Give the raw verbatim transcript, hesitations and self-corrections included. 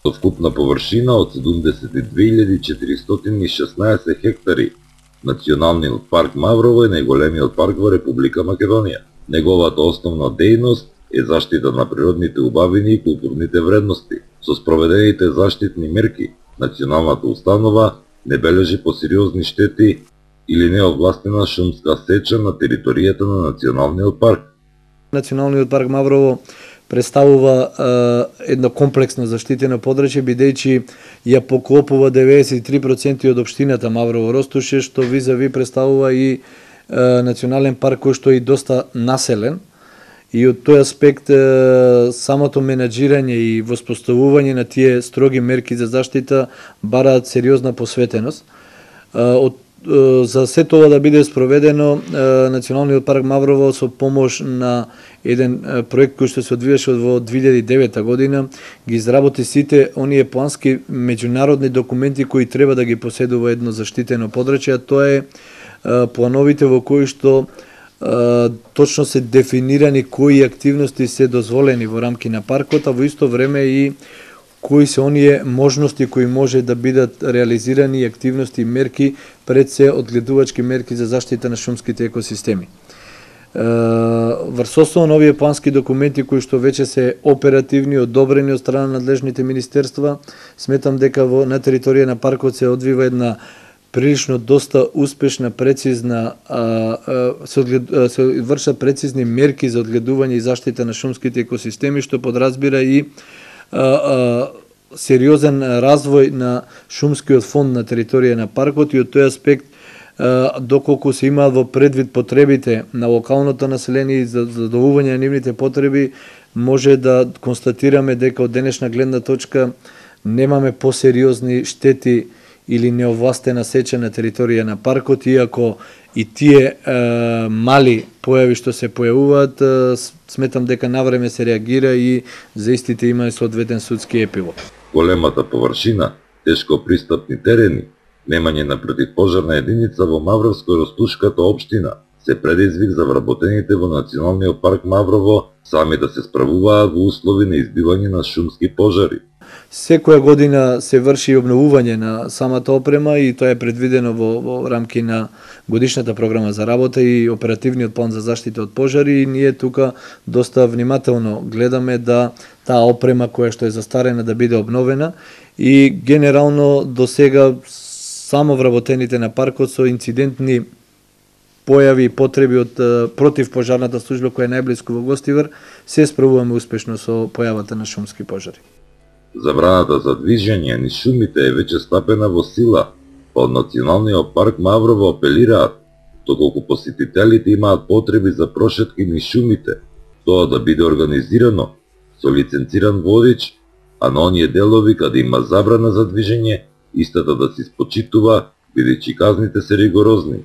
Од вкупна површина од седумдесет и две илјади четиристотини и шеснаесет хектари, Националниот парк Маврово е најголемиот парк во Република Македонија. Неговата основна дејност е заштита на природните убавини и културните вредности. Со спроведените заштитни мерки, националната установа не бележи посериозни штети или неовластена шумска сеча на територијата на Националниот парк. Националниот парк Маврово представува е, едно комплексно заштитено подрачје, бидејќи ја поклопува деветдесет и три проценти од општината Маврово Ростуше, што визави представува и е, национален парк кој што е и доста населен. И од тој аспект е, самото менаџирање и воспоставување на тие строги мерки за заштита бараат сериозна посветеност. Е, од За се тоа да биде спроведено, Националниот парк Маврово со помош на еден проект кој што се одвиваше во две илјади и девета година, ги изработи сите оние плански меѓународни документи кои треба да ги поседува едно заштитено подрачје, а тоа е плановите во кои што точно се дефинирани кои активности се дозволени во рамки на паркот, а во исто време и кои се оние можности кои може да бидат реализирани и активности и мерки пред се одгледувачки мерки за заштита на шумските екосистеми. Врз основа на овие плански документи кои што веќе се оперативни, одобрени од страна на надлежните министерства, сметам дека во на територија на паркот се одвива една прилично доста успешна, прецизна, а, а, се, одглед, се вршат прецизни мерки за одгледување и заштита на шумските екосистеми, што подразбира и а, а, сериозен развој на шумскиот фонд на територија на паркот и од тој аспект а, доколку се имаат во предвид потребите на локалното население и за задоволување на нивните потреби, може да констатираме дека од денешна гледна точка немаме посериозни штети или неовластена сеча на територија на паркот, иако и тие е, мали појави што се појавуваат, е, сметам дека навреме се реагира и за истите има соодветен судски епилог. Големата површина, тешко пристапни терени, немање на противпожарна единица во Мавровско-Ростушката општина се предизвик за вработените во Националниот парк Маврово сами да се справуваат во услови на избивање на шумски пожари. Секоја година се врши обновување на самата опрема и тоа е предвидено во, во рамки на годишната програма за работа и оперативниот план за заштита од пожари, и ние тука доста внимателно гледаме да таа опрема која што е застарена да биде обновена, и генерално до сега само вработените на паркот со инцидентни појави и потреби од противпожарната служба која е најблиску во Гостивар, се справуваме успешно со појавата на шумски пожари. Забраната за движење низ шумите е веќе стапена во сила, па од Националниот парк Маврово апелираат, доколку посетителите имаат потреби за прошетки низ шумите, тоа да биде организирано со лиценциран водич, а на оние делови каде има забрана за движење, истата да се испочитува, бидејќи казните се ригорозни.